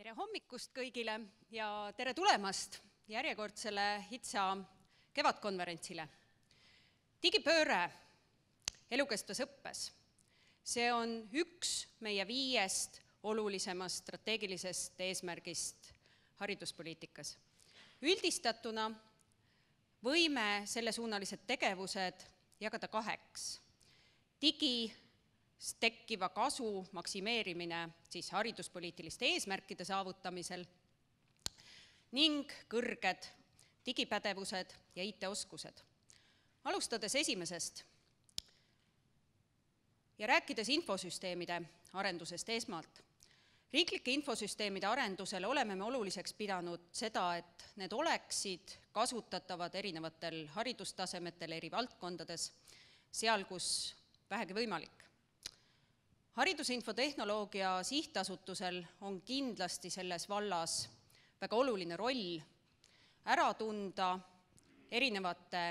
Tere hommikust kõigile ja tere tulemast järjekordsele HITSA kevadkonverentsile. Digipööre elukestvas õppes. See on üks meie 5 olulisemast strateegilisest eesmärgist hariduspoliitikas. Üldistatuna võime sellesuunalised tegevused jagada 2. Digis tekkiva kasu maksimeerimine siis hariduspoliitiliste eesmärkide saavutamisel ning kõrged digipädevused ja IT-oskused. Alustades esimesest ja rääkides infosüsteemide arendusest esmalt. Riiklike infosüsteemide arendusel oleme me oluliseks pidanud seda, et need oleksid kasutatavad erinevatel haridustasemetel eri valdkondades, seal kus vähegi võimalik. Haridusinfotehnoloogia sihtasutusel on kindlasti selles vallas väga oluline roll ära tunda erinevate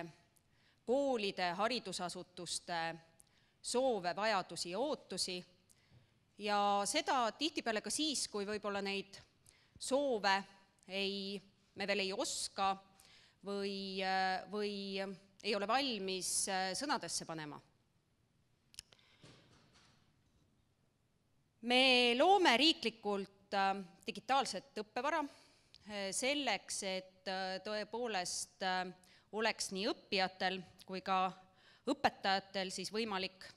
koolide, haridusasutuste soove, vajadusi ja ootusi ja seda tihtipeale ka siis, kui võib-olla neid soove me veel ei oska või ei ole valmis sõnadesse panema. Me loome riiklikult digitaalset õppevara selleks, et tõepoolest oleks nii õppijatel kui ka õpetajatel siis võimalik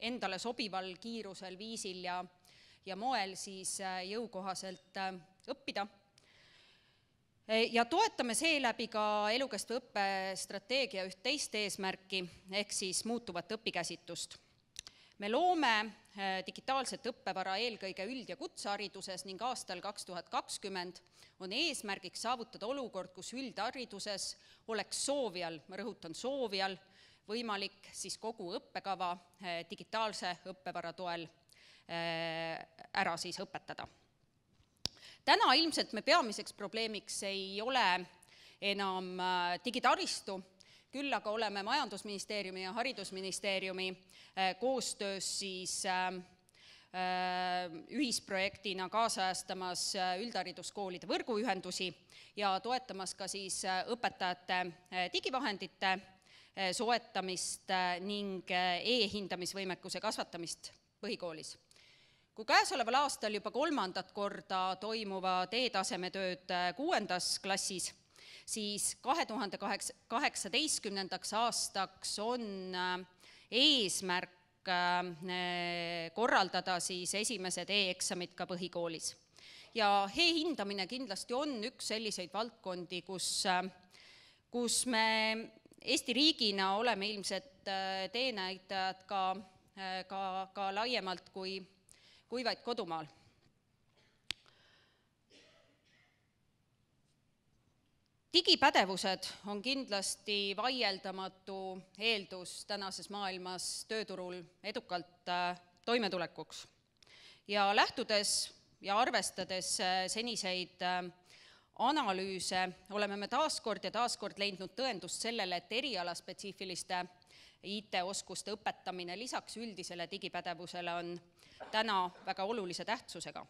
endale sobival kiirusel, viisil ja moel siis jõukohaselt õppida. Ja toetame seeläbi ka elukestva õppe strateegia üht teist eesmärki ehk siis muutuvat õpikäsitust. Me loome digitaalset õppevara eelkõige üld- ja kutsehariduses ning aastal 2020 on eesmärgiks saavutada olukord, kus üldhariduses oleks soovijal, ma rõhutan soovijal, võimalik siis kogu õppekava digitaalse õppevara toel ära siis õpetada. Täna ilmselt me peamiseks probleemiks ei ole enam digitaristu, küll aga oleme Majandusministeeriumi ja Haridusministeeriumi koostöös siis ühisprojektina kaasajastamas üldhariduskoolide võrguühendusi ja toetamas ka siis õpetajate digivahendite soetamist ning e-hindamisvõimekuse kasvatamist põhikoolis. Kui käesoleval aastal juba 3. korda toimuvad e-tasemetööd 6. klassis, siis 2018. aastaks on eesmärk korraldada siis esimesed e-eksamid ka põhikoolis. Ja e-hindamine kindlasti on üks selliseid valdkondi, kus me Eesti riigina oleme ilmselt teenäitajad ka laiemalt kui vaid kodumaal. Digipädevused on kindlasti vaieldamatu eeldus tänases maailmas tööturul edukalt toimetulekuks. Ja lähtudes ja arvestades seniseid analüüse oleme me taaskord leidnud tõendust sellele, et erialaspetsiifiliste IT-oskuste õpetamine lisaks üldisele digipädevusele on täna väga olulise tähtsusega.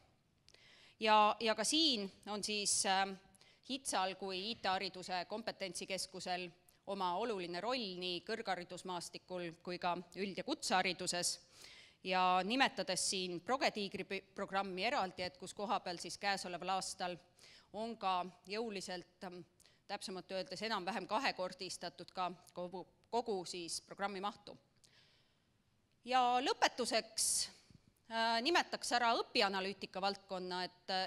Ja ka siin on siis HITSA-l kui IT-hariduse kompetentsikeskusel oma oluline roll nii kõrgharidusmaastikul kui ka üld- ja kutsehariduses ja nimetades siin Progetiigri programmi eraldi, et kus kohapeal siis käesoleval aastal on ka jõuliselt, täpsemalt öeldes enam-vähem 2-kordistatud ka kogu siis programmi mahtu. Ja lõpetuseks nimetaks ära õpianalüütika valdkonna,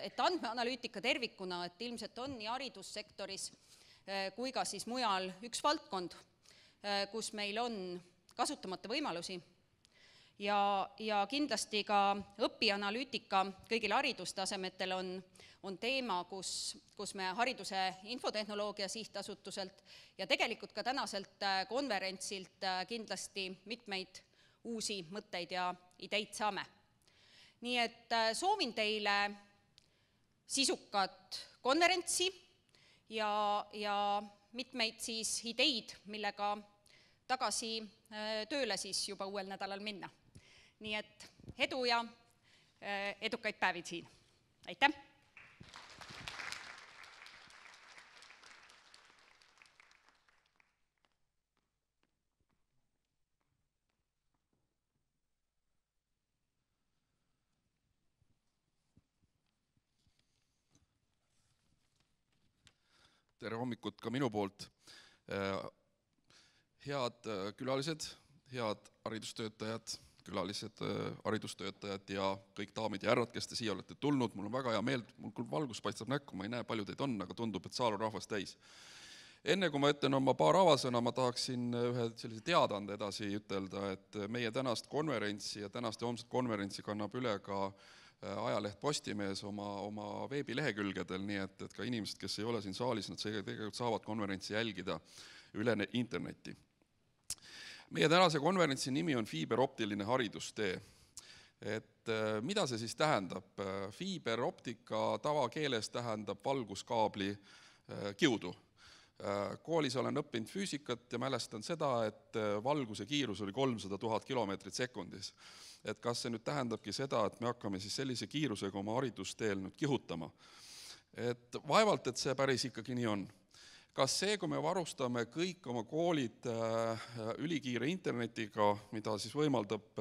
et andmeanalüütika tervikuna, et ilmselt on nii haridussektoris kui ka siis mujal üks valdkond, kus meil on kasutamata võimalusi ja kindlasti ka õpianalüütika kõigil haridustasemetel on teema, kus me hariduse infotehnoloogia sihtasutuselt ja tegelikult ka tänaselt konverentsilt kindlasti mitmeid uusi mõtteid ja ideid saame. Nii et soovin teile sisukat konverentsi ja mitmeid siis ideid, millega tagasi tööle siis juba uuel nädalal minna. Nii et edu ja edukaid päevid siin. Aitäh! Tere hommikut ka minu poolt. Head külalised, head haridustöötajad, külalised haridustöötajad ja kõik daamid ja härrad, kes te siia olete tulnud. Mul on väga hea meel, mul küll valgus paistab näkku, ma ei näe, palju teid on, aga tundub, et saal on rahvast täis. Enne kui ma ütlen oma paar avasõna, ma tahaksin ühe sellise teadaande edasi ütelda, et meie tänast konverentsi ja tänast ja homset konverentsi kannab üle ka ajaleht Postimees oma veebilehekülgedel, nii et ka inimesed, kes ei ole siin saalis, nad tegelikult saavad konverentsi jälgida üle interneti. Meie tänase konverentsi nimi on fiiberoptiline haridustee. Et mida see siis tähendab? Fiiberoptika tavakeeles tähendab valguskaabli kiudu. Koolis olen õppinud füüsikat ja mälestan seda, et valguse kiirus oli 300 000 kilomeetrit sekundis. Et kas see nüüd tähendabki seda, et me hakkame siis sellise kiirusega oma haridusteel nüüd kihutama. Et vaevalt, et see päris ikkagi nii on. Kas see, kui me varustame kõik oma koolid ülikiire internetiga, mida siis võimaldab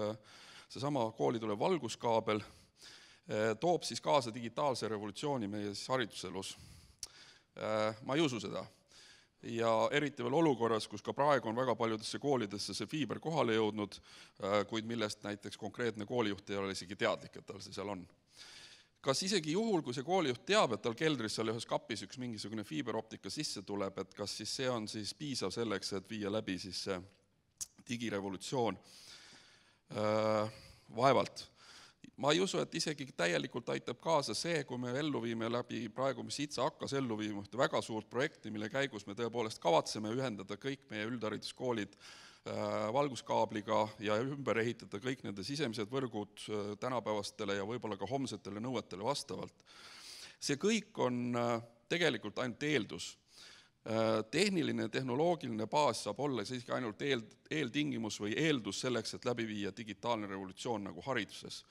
seesama kooli tulev valguskaabel, toob siis kaasa digitaalse revolutsiooni meie hariduselus? Ma ei usu seda. Ja eriti veel olukorras, kus ka praegu on väga paljudesse koolidesse see fiiber kohale jõudnud, kuid millest näiteks konkreetne koolijuht ei ole isegi teadlik, et tal see seal on. Kas isegi juhul, kui see koolijuht teab, et tal keldris seal ühes kapis üks mingisugune fiiberoptika sisse tuleb, et kas siis see on siis piisav selleks, et viia läbi siis see digirevolutsioon? Vaevalt. Ma ei usu, et isegi täielikult aitab kaasa see, kui me ellu viime läbi praegu, mis ITSA hakkas ellu viima ühte väga suurt projekti, mille käigus me tõepoolest kavatseme ühendada kõik meie üldhariduskoolid valguskaabliga ja ümber ehitada kõik nende sisemised võrgud tänapäevastele ja võib-olla ka homsetele nõuetele vastavalt. See kõik on tegelikult ainult eeldus. Tehniline ja tehnoloogiline baas saab olla siiski ainult eeltingimus või eeldus selleks, et läbi viia digitaalne revolutsioon nagu hariduses.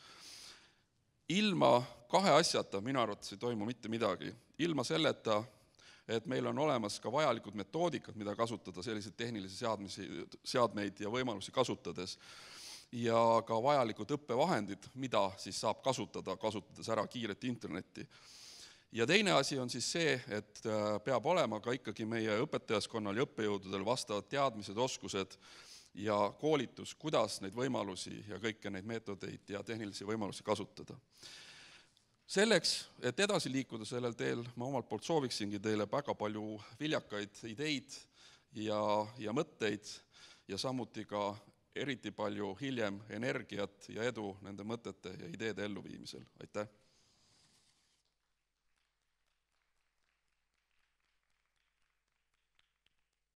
Ilma kahe asjata minu arvates ei toimu mitte midagi. Ilma selleta, et meil on olemas ka vajalikud metoodikad, mida kasutada selliseid tehnilisi seadmeid ja võimalusi kasutades ja ka vajalikud õppevahendid, mida siis saab kasutades ära kiiret internetti. Ja teine asi on siis see, et peab olema ka ikkagi meie õpetajaskonnal ja õppejõududel vastavad teadmised, oskused ja koolitus, kuidas neid võimalusi ja kõiki neid meetodeid ja tehnilisi võimalusi kasutada. Selleks, et edasi liikuda sellel teel, ma omalt poolt sooviksingi teile väga palju viljakaid ideid ja mõtteid ja samuti ka eriti palju hiljem energiat ja edu nende mõtete ja ideede elluviimisel. Aitäh!